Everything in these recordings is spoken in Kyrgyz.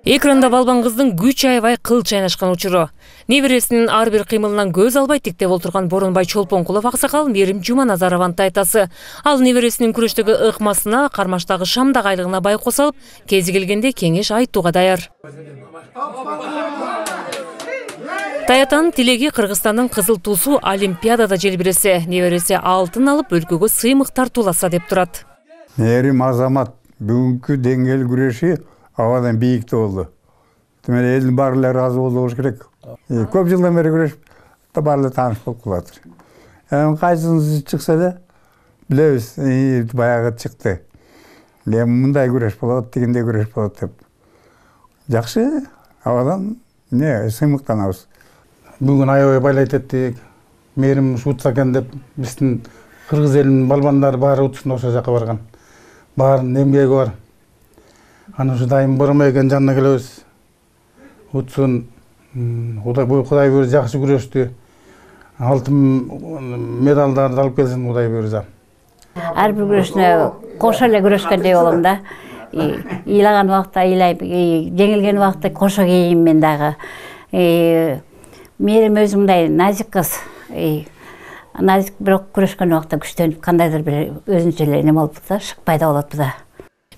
Экранда балбан кыздын күч аябай кыл чайнашкан учуру. Небересинин ар бир кыймылынан көз албай тиктеп отурган Боронбай Чолпонкулов аксакал Мерим Жуманазарованын тайтасы. Ал небересинин күрөштөгү ыкмасына, кармаштагы шамдак айлыгына байкоо салып, кези келгенде кеңеш айтууга даяр. Таятанын тилеги Кыргызстандын кызыл туусу Олимпиадада желбиресе, небереси алтын алып өлкөгө сыймык тартууласа деп турат. Мерим азамат бүгүнкү деңгээл күрөшү абадан бийикте болду. Демек элдин баары ыраазы болуш керек. Көп жылдан бери күрөшүп, баары тааныш болуп калат. Кайсынысы чыкса да билебиз, баягы чыкты. Мындай күрөш болот, дегендей күрөш болот деп. Жакшы, абадан сыймыктанабыз. Бүгүн аябай байлайт эттик. Мерим утса экен деп биздин кыргыз элинин балбандары баары утсын ошол жака барган. Баарынын эмгеги бар. Аны ушу дайым Боронбай экен жанына келебиз. Утsun, Кудай буюрса жакшы күрөштү. Алтын медалдарды алып келсин Кудай буюрса. Ар бир күрөшүнө кошо эле күрөшкөндөй болом да. Ыйлаган убакта ыйлайм, жеңилген убакта кошо кейим мен дагы. Мерим өзү мындай назик кыз. Назик бирок күрөшкөн убакта күчтөнүп кандайдыр бир өзүнчө эле эме болуп да, шыкпай да болот да.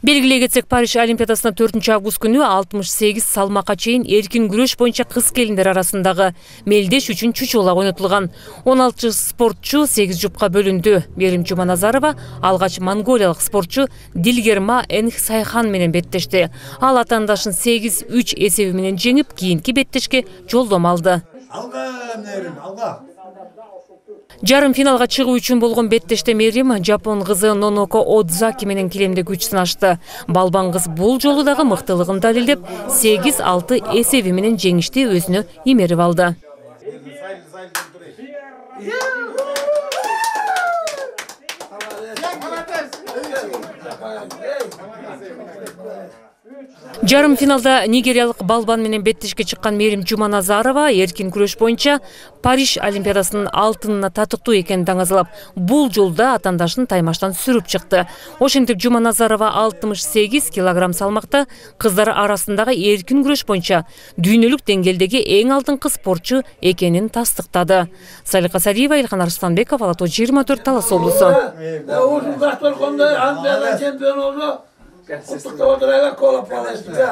Белгилей кетсек, Париж Олимпиадасына 4-август күнү 68 салмакка чейин эркин күрөш боюнча кыз келиндер арасындагы мелдеш үчүн чучулак ойнотулган. 16 спортчу 8 жупка бөлүндү. Мерим Жуманазарова алгач монголиялык спортчу Дилгерма Энхсайхан менен беттешти. Ал атаандашын 8-3 эсеби менен жеңип, кийинки беттешке жолдомо алды. Жарым финалга чыгуу үчүн болгон беттеште Мерим жапон кызы Ноноко Одзаки менен килемде күч сынашты. Балбан кыз бул жолу дагы мыктылыгын далилдеп, 8-6 эсеби менен жеңишти өзүнө имерип алды. Жарым финалда нигериялык балбан менен беттешке чыккан Мерим Жуманазарова эркин күрөш боюнча Париж Олимпиадасынын алтынына татыктуу экенин таңазалап, бул жолда атаандашын таймаштан сүрүп чыкты. Ошентип Жуманазарова 68 килограмм салмакта кыздар арасындагы эркин күрөш боюнча дүйнөлүк деңгээлдеги эң алдыңкы спортчу экенин тастыктады. Салика Сариева, Илхан Арыстанбеков, Ала Тоо 24, Талас облусу.